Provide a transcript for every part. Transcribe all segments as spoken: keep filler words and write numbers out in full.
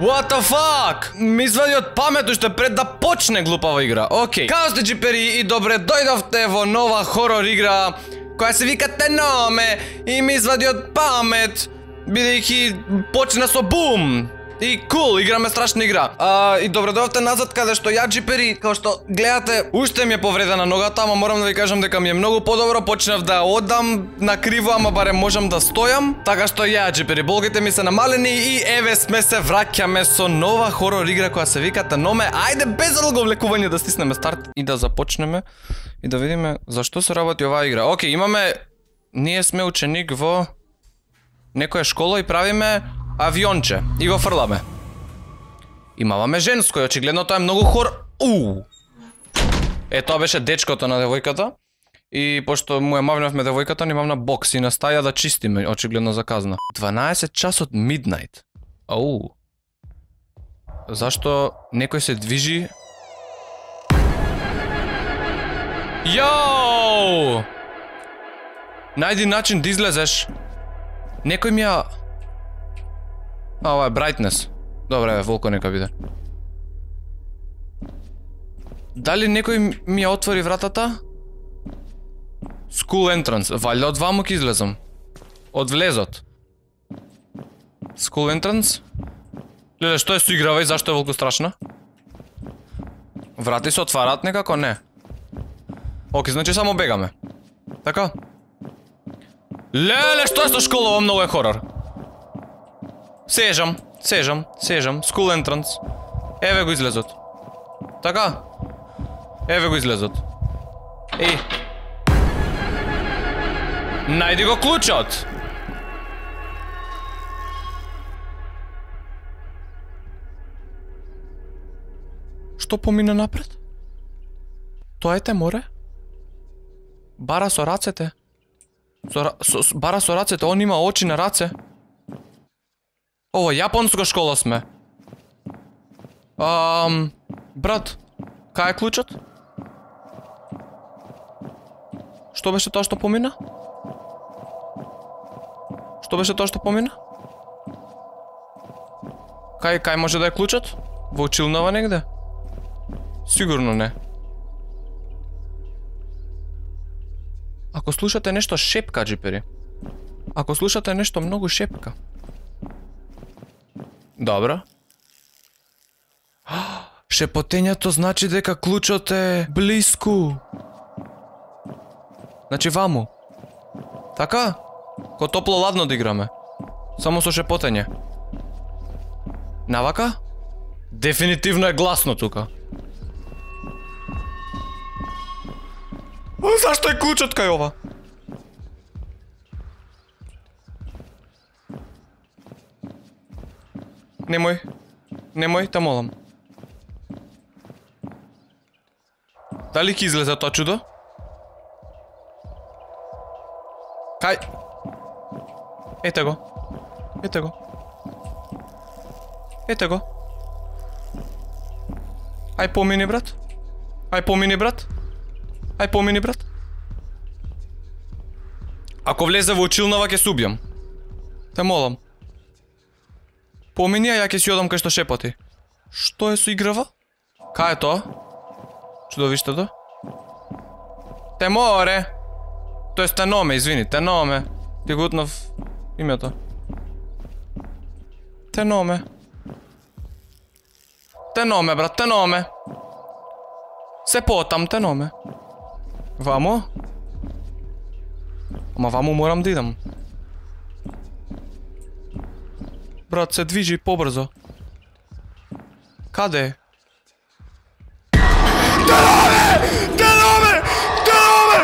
What the fuck? Ми извади од памет уште пред да почне глупава игра. Океј. Као сте джипери и добре дојдовте во нова хорор игра која се вика Теноме и ми извади од памет бидејќи почна со бум. И кул, играме страшна игра. А, и добре дојдовте назад каде што ја джипери, као што гледате, уште ми е повредена ногата, ама морам да ви кажам дека ми е многу подобро, почнав да одам на криво, ама барем можам да стојам. Така што ја джипери, болгите ми се намалени и еве сме се враќаме со нова хорор игра која се вика Теноме. Ајде без долго влекување да стиснеме старт и да започнеме и да видиме зашто се работи оваа игра. Океј, имаме, ние сме ученик во некоја школа и правиме авионче и го фрламе. Имаваме женско и очигледно тоа е многу хор... Уу! Е, тоа беше дечкото на девојката. И пошто му ја мавнавме девојката, ни мавна бокс и на стаја да чистиме, очигледно за казна. дванаесет часот midnight. Ау. Зашто некој се движи? Јоу! Најди начин да излезеш. Некој ми ја... А, ова е brightness. Добре, волко нека биде. Дали некој ми ја отвори вратата? School entrance. Валјда од ваму ќе излезам. Од влезот. School entrance? Леле, што е со играва и зашто е волку страшна? Врати се отварат некако? Не. Оке, значи само бегаме. Така? Леле, што е со школа? Ова многу е хорор. Сежам, сежам, сежам. School entrance. Еве го излезот. Така? Еве го излезот. Еј. Најди го клучот. Што помина напред? Тоа е Теморе? Бара со рацете. Со, со, бара со рацете, он има очи на раце. Ово, јапонска школа сме. Ам, брат, кај е клучот? Што беше тоа што помина? Што беше тоа што помина? Кај, кај може да е клучот? Во училнава негде? Сигурно не. Ако слушате нешто шепка, джипери. Ако слушате нешто многу шепка. Добро. Шепотењето значи дека клучот е блиску. Значи ваму. Така? Ко топло-ладно да играме. Само со шепотење. Навака? Дефинитивно е гласно тука. Зашто е клучот кај ова? Немој. Немој, те молам. Дали ќе излезе тоа чудо? Кај? Ете го. Ете го. Ете го. Ај помини, брат. Ај помини, брат. Ај помини, брат. Ако влезе во училнава ќе се убијам. Те молам. Помини, а ја ќе си одам кај што шепоти. Што е со играва? Кај е тоа? Чудовиштето? Теморе! Тоа е Теноме, извини, Теноме. Ти го утнав името. Теноме. Теноме, брат, Теноме. Се потам, Теноме. Вамо? Ама вамо морам да идам. Брат, се движи побрзо. Каде е? Теноме! Теноме! Теноме!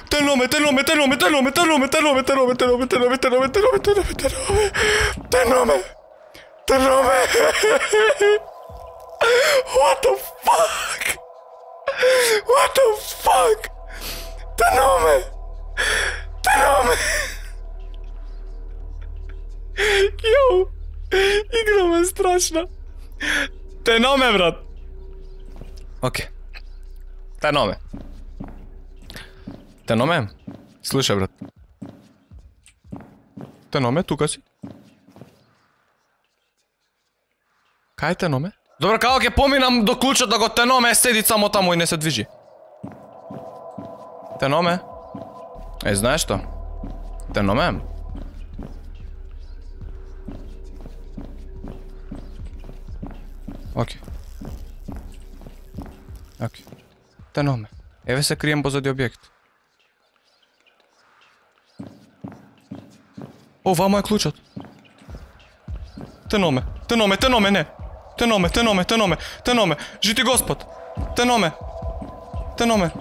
Теноме! Теноме! Теноме! Теноме! Теноме! Теноме! Теноме! Теноме! Теноме! Теноме! Теноме! Теноме! Теноме! Теноме! Теноме! What the fuck? What the fuck? Теноме! Теноме! Јоу! Играма е страшна. Теноме, брат. Океј. Теноме. Теноме? Слушај, брат. Теноме, тука си? Кај теноме? Добро, како ќе поминам до клучот да го теноме седи само таму и не се движи. Теноме? Е, знаеш што? Теноме? Окей. Окей. Теноме. Еве се крием позади објект. О, вамо е клучот. Теноме, теноме, теноме, не. Теноме, теноме, теноме, теноме. Жити Господ. Теноме. Теноме.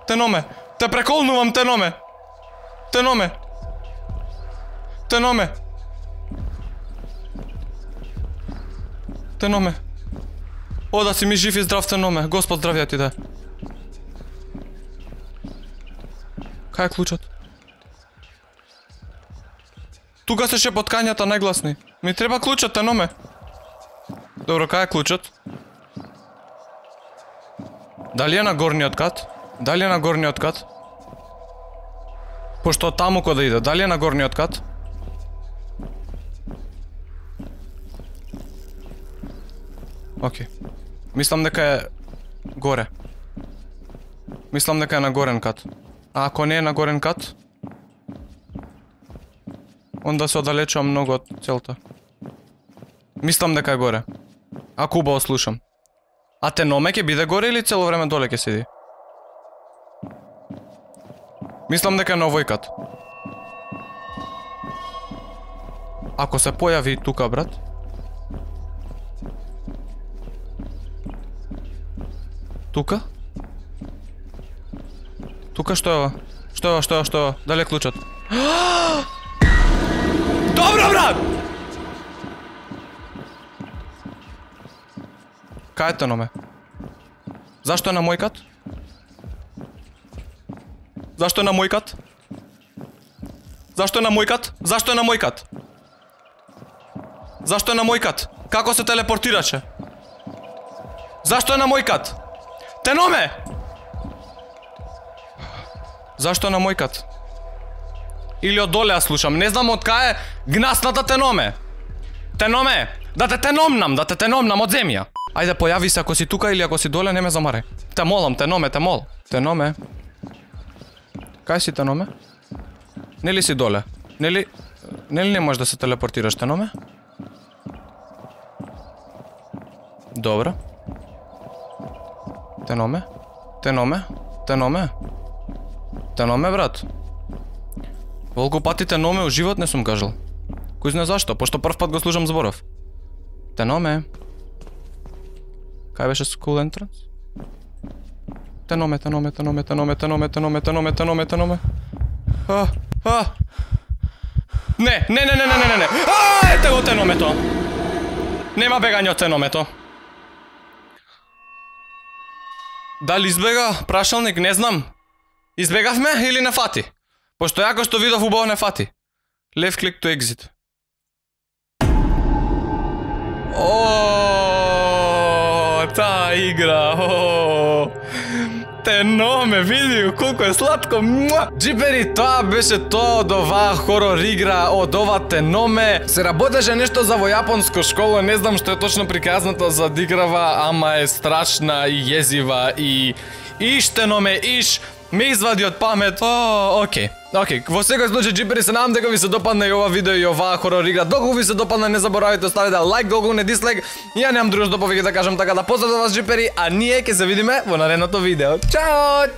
Теноме. Те преколнувам, теноме. Теноме. Теноме. Теноме. О, да си ми жив и здрав, теноме. Господ здравија ти да. Кај е клучот? Тука се шепоткањата најгласни. Ми треба клучот, теноме. Добро, кај е клучот? Дали е на горниот кат? Дали е на горниот кат? Пошто таму кога да иде, дали е на горниот кат? Окей. Мислам дека е горе. Мислам дека е на горен кат. А ако не е на горен кат, онда се оддалечувам многу од целта. Мислам дека е горе. Ако убаво слушам. А теноме ќе биде горе или цело време доле ќе седи? Мислам дека е на овој кат. Ако се појави тука, брат. Тука? Тука што е ова? Што е ова, што е ова, што е ова? Дали е клучот? Добро, брат! Кај е теноме? Зашто е на мој кат? Зашто е на мој кат? Зашто е на мој кат? Зашто е на мој кат? Зашто е на мој кат? Како се телепортираше? Зашто е на мој кат? Теноме! Зашто е на мој кат? Или од доле ја слушам, не знам од кај е гнасната теноме. Теноме, да те теномнам, да те теномнам од земја. Ајде, појави се ако си тука или ако си доле, не ме замарај. Те молам, теноме, те мол. Теноме. Кај си, теноме? Нели си доле? Нели... Нели не можеш да се телепортираш, теноме? Добро. Теноме? Теноме? Теноме? Теноме, брат? Волку пати теноме у живот не сум кажал. Кој знае зашто, пошто прв пат го слушам зборов. Теноме. Кај беше school entrance? Теноме, теноме, теноме, теноме, теноме, теноме, теноме, теноме, теноме. А, а. Не, не, не, не, не, не, не. А, ете го теномето. Нема бегање од теномето. Дали избега прашалник, не знам. Избегавме или не фати? Пошто јако што видов убаво не фати. Left click to exit. О, таа игра. О, теноме, види колку е сладко. Джипери, тоа беше тоа од оваа хорор игра, од ова теноме. Се работеше нешто за во јапонско школа, не знам што е точно приказната за диграва, ама е страшна и језива и иш теноме, иш ме извади од памет. О, окей. Океј, во секој случај, джипери, се надам дека ви се допадна и ова видео и оваа хорор игра. Доколку ви се допадна, не заборавајте оставите лайк, доколку не дислайк. Ја немам друго што повеќе да кажам, така да поздравам вас, джипери, а ние ќе се видиме во наредното видео. Чао!